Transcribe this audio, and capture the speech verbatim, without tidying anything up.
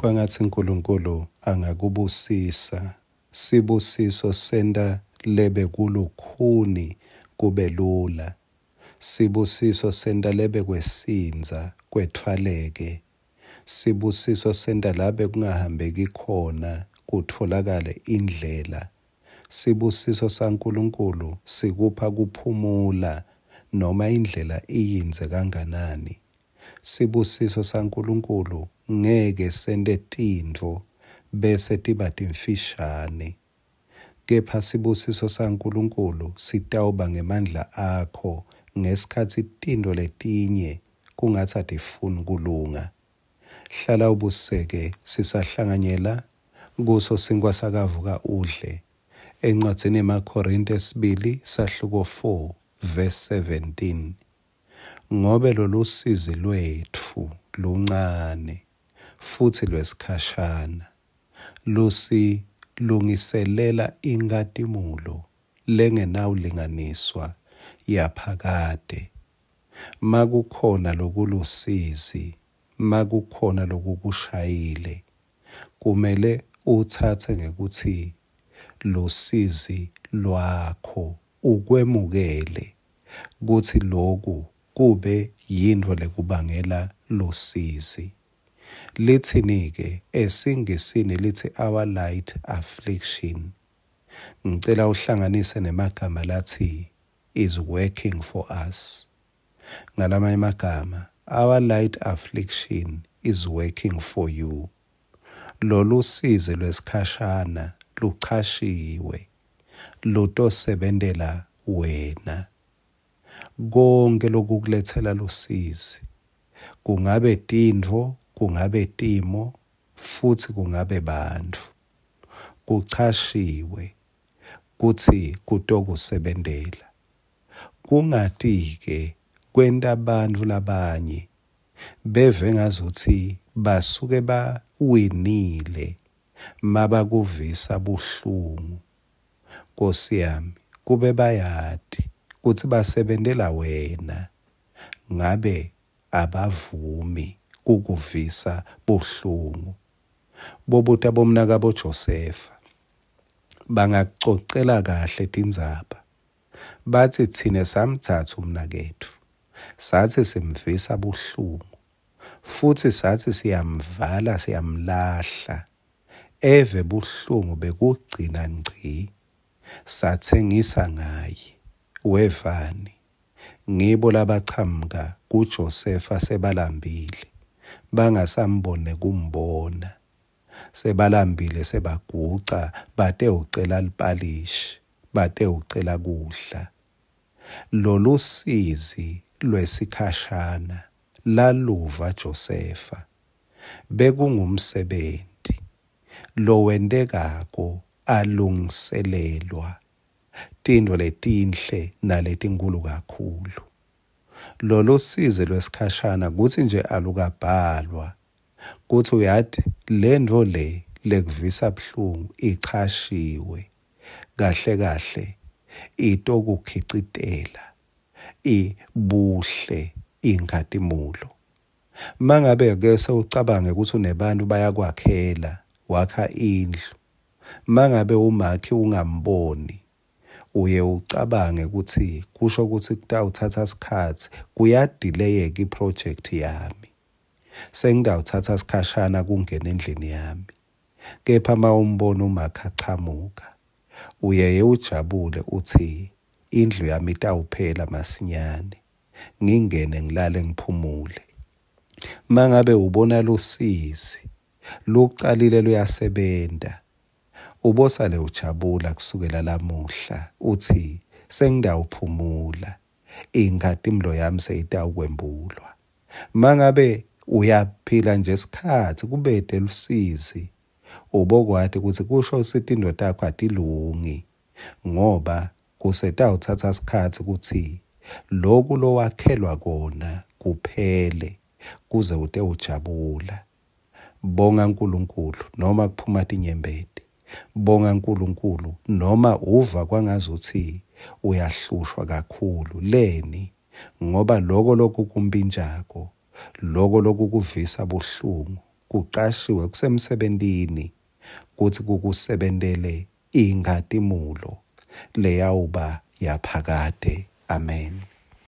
Kwangatsi Nkulunkulu angakubusisa. Sibusiso senta lebe kulukhuni kube lula. Sibusiso senta lebe kwesindza kwetfwaleke. Sibusiso senta la bekungahambeki khona kutfolakale indlela. Sibusiso saNkulunkulu sikupha kuphumula noma indlela iyindze kanganani. Sibusiso saNkulunkulu ngeke sente tintfo bese tiba timfishane, kepha sibusiso saNkulunkulu sitawuba ngemandla akho ngesikhatsi tintfo letinye kungatsi atifuni kulunga. Hlala ubuseke sisahlanganyela kuso sinkwa sakavuka udle. Encwadzini yemaKhorinte esibili sahluko four verse seventeen. Ngobe lolusizi lwetfu luncane futsi lwesikhashana, lusilungiselela inkhatimulo lengenawulinganiswa yaphakade. Makukhona lokulusizi, makukhona lokukushayile, kumele utsatse ngekutsi lusizi lwakho ukwemukele kutsi loku kube yintfo lekubangela lusizi. Litsini-ke esiNgisini litsi our light affliction. Ngicela uhlanganise nemagama latsi is working for us. Ngalamanye amagama, our light affliction is working for you. Lolu sizi lwesikhashana luchashiwe lutosebentela wena. Konke lokukuletsela lusizi, kungabe tintfo, kungabe timo, futsi kungabe bantfu, kuchashiwe kutsi kutokusebentela. Kungati-ke kwenta bantfu labanye beve ngazuthi basuke bawinile mabakuvisa buhlungu. Nkosi yami, kube bayati kutsi basebentela wena, ngabe abavumi kukuvisa buhlungu. Bobuta bomnakabo Josefa bangakucocela kahle tindzaba, batsi tsine samtsatsa umnaketfu, satsi simvisa buhlungu, futsi satsi siyamvala siyamlahla, eve buhlungu bekugcina ngci, satsengisa ngaye. Wevani, ngibo labachamuka kuJosefa sebalambile, bangasambone kumbona, sebalambile sebaguca batewucela lipalishi, batewucela kudla. Lolusizi lwesikhashana laluva Josefa bekungumsebenti lowentekako alungiselelwa tintfo letinhle naletinkulu kakhulu. Lolusizi lwesikhashana kutsi nje alukabhalwa kutsi uyati lentfo le lekuvisa buhlungu ichashiwe kahle kahle itokukhicitela ibuhle inkhatimulo. Mangabe ke sewucabange kutsi unebantu bayakwakhela wakha indlu, mangabe umakhi ungamboni uye ucabange kutsi kusho kutsi kutawutsatsa sikhatsi, kuyadileyeka iproject yami, sengitawutsatsa sikhashana kungena endlini yami. Kepha mawumbona umakhi achamuka uyeye ujabule utsi indlu yami itawuphela masinyane, ngingene ngilale ngiphumule. Mangabe ubona lusizi lucalile luyasebenta, ubosale ujabula kusukela lamuhla utsi sengitawuphumula, inkhatimulo yami seyitawukwembulwa. Mangabe uyaphila nje sikhatsi kubete lusizi, ubokwati kutsi kusho tintfo takho atilungi, ngoba kusetawutsatsa sikhatsi kutsi loku lowakhelwa kona kuphele kuze ute ujabula. Bonga Nkulunkulu noma kuphuma tinyembeti, bonga Nkulunkulu noma uva kwangazuthi uyahlushwa kakhulu. Leni? Ngoba loko lokukumpintshako, loko lokukuvisa buhlungu Kucashiwe, kusemsebentini kutsi kukusebentele inkhatimulo leyawuba yaphakade. Amen.